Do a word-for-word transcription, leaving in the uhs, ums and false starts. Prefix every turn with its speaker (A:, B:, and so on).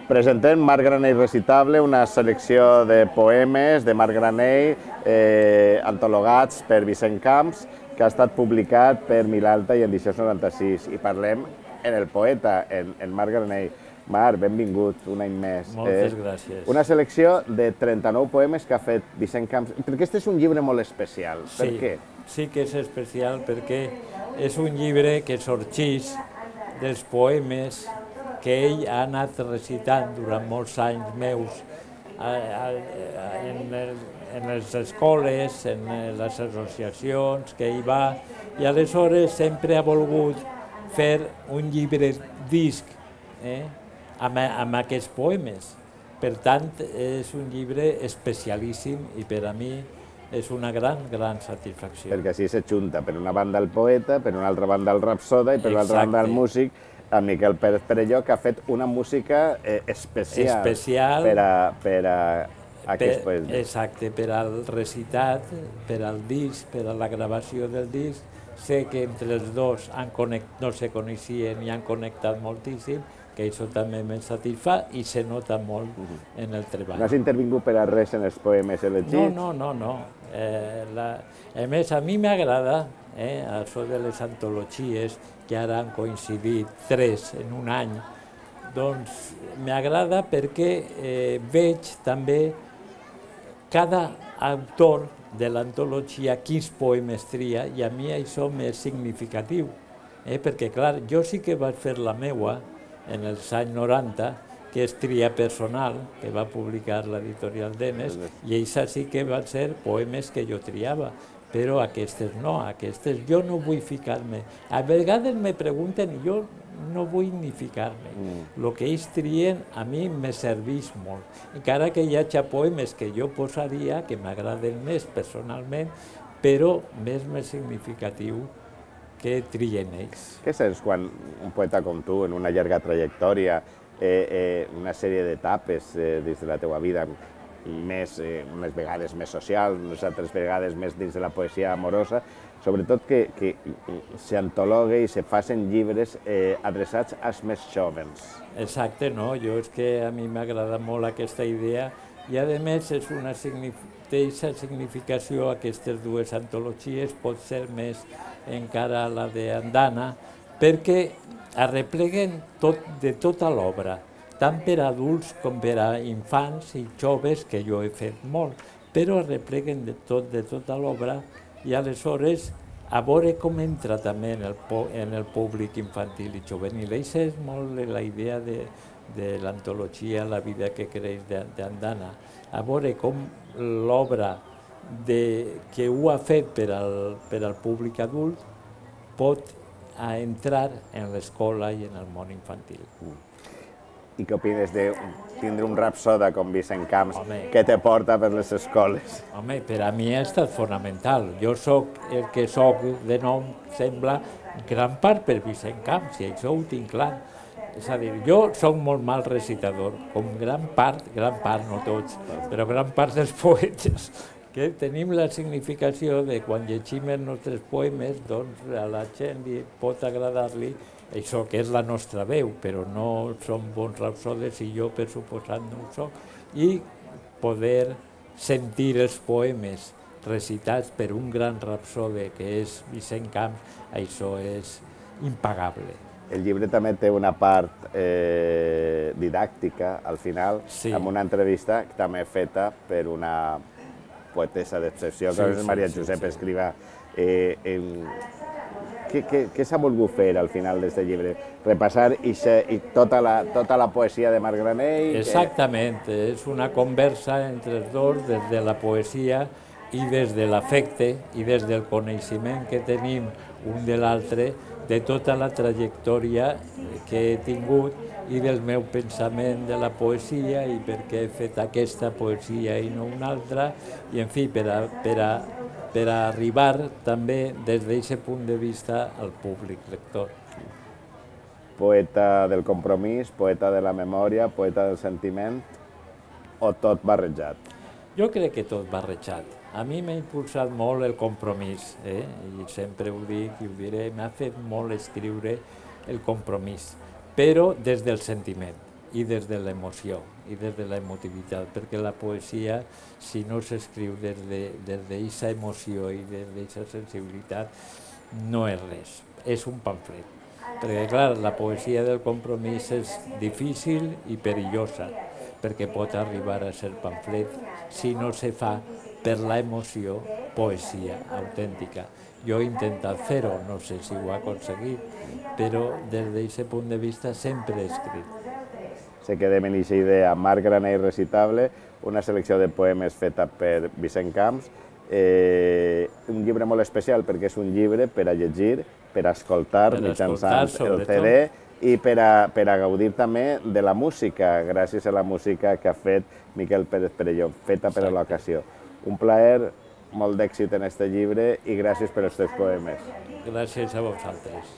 A: Presentem Marc Granell Recitable, una selecció de poemes de Marc Granell eh, antologats per Vicent Camps, que ha estat publicat per Milalta i Edicions noranta-sis. I parlem en el poeta, en, en Marc Granell. Marc, benvingut un any més.
B: Moltes eh, gràcies.
A: Una selecció de trenta-nou poemes que ha fet Vicent Camps, perquè este és un llibre molt especial. Per
B: sí,
A: què?
B: Sí que és especial perquè és un llibre que sorgeix dels poemes que ell ha anat recitant durant molts anys meus a, a, a, en, el, en les escoles, en les associacions que hi va, i aleshores sempre ha volgut fer un llibre disc eh, amb, amb aquests poemes. Per tant, és un llibre especialíssim i per a mi és una gran, gran satisfacció.
A: Perquè així s'ajunta per una banda el poeta, per una altra banda el rapsoda i per una altra banda el músic, a Miquel Pérez Perelló, que ha fet una música eh, especial,
B: especial
A: per a, per a aquest
B: per,
A: poema.
B: Exacte, per al recitat, per al disc, per a la gravació del disc. Sé que entre els dos han connect, no se coneixien i han connectat moltíssim, que això també me satisfà i se nota molt uh -huh. en el treball.
A: No has intervingut per a res en els poemes elegits?
B: No, no, no. no. Eh, la... A més, a mi m'agrada eh, això de les antologies, que ara han coincidit tres en un any, doncs m'agrada perquè eh, veig també cada autor de l'antologia quins poemes tria, i a mi això m'és significatiu, eh, perquè clar, jo sí que vaig fer la meua en els anys noranta, que és Tria Personal, que va publicar l'editorial Denes, i això sí que van ser poemes que jo triava, però aquestes no, aquestes jo no vull ficar-me. A vegades me pregunten i jo no vull ni ficar-me. El que ells trien a mi me serveix molt, encara que hi hagi poemes que jo posaria, que m'agraden més personalment, però més més significatiu que trien ells.
A: Què sents quan un poeta com tu, en una llarga trajectòria, eh, eh, una sèrie d'etapes eh, dins de la teva vida, més, eh, unes vegades més social, unes altres vegades més dins de la poesia amorosa, sobretot que, que s'antologue i se facin llibres eh, adreçats als més jovens.
B: Exacte, no, jo és que a mi m'agrada molt aquesta idea i a més és una significació, significació aquestes dues antologies, pot ser més encara la d'Andana, perquè arrepleguen tot, de tota l'obra, tant per a adults com per a infants i joves, que jo he fet molt, però arrepleguen de tot, de tota l'obra, i aleshores a veure com entra també en el, en el públic infantil i juvenil. Això és molt la idea de, de l'antologia La vida que creix d'Andana, a veure com l'obra que ho ha fet per al, per al públic adult pot a entrar en l'escola i en el món infantil.
A: I què opines de tindre un rapsoda com Vicent Camps que te porta per les escoles?
B: Home, per a mi ha estat fonamental. Jo sóc el que sóc de nom, sembla, gran part per Vicent Camps, i això ho tinc clar. És a dir, jo sóc molt mal recitador, com gran part, gran part, no tots, però gran part dels poetes, que tenim la significació de quan llegim els nostres poemes, doncs a la gent li pot agradar-li això que és la nostra veu, però no som bons rapsodes i jo, per suposat, no ho soc, i poder sentir els poemes recitats per un gran rapsode que és Vicent Camps, això és impagable.
A: El llibre també té una part eh, didàctica, al final, sí. Amb una entrevista també feta per una poetessa d'excepció, que sí, és Maria sí, Josep sí, Escrivà. Eh, eh, què què, què s'ha volgut fer al final d'aquest llibre? Repassar ixe, i tota, la, tota la poesia de Marc Granell?
B: Exactament, que... és una conversa entre els dos, des de la poesia i des de l'afecte i des del coneixement que tenim un de l'altre, de tota la trajectòria que he tingut i del meu pensament de la poesia i per què he fet aquesta poesia i no una altra, i en fi, per a, per a, per a arribar també des d'aquest punt de vista al públic lector.
A: Poeta del compromís, poeta de la memòria, poeta del sentiment, o tot barrejat?
B: Jo crec que tot barrejat. A mi m'ha impulsat molt el compromís, eh? I sempre ho dic i ho diré, m'ha fet molt escriure el compromís, però des del sentiment. i des de l'emoció i des de l'emotivitat, perquè la poesia, si no s'escriu des d'aquesta emoció i des d'aquesta sensibilitat, no és res, és un pamflet. Perquè, clar, la poesia del compromís és difícil i perillosa, perquè pot arribar a ser pamflet si no se fa per la emoció poesia autèntica. Jo he intentat fer-ho, no sé si ho he aconseguit, però des d'aquest punt de vista sempre he escrit.
A: Se quedem en aquesta idea. Marc Granell Recitable, una selecció de poemes feta per Vicent Camps, eh, un llibre molt especial perquè és un llibre per a llegir, per a escoltar mitjançant el C D i per a, per a gaudir també de la música, gràcies a la música que ha fet Miquel Pérez Perelló, feta per a l'ocasió. Un plaer, molt d'èxit en aquest llibre i gràcies per els teus poemes.
B: Gràcies a vosaltres.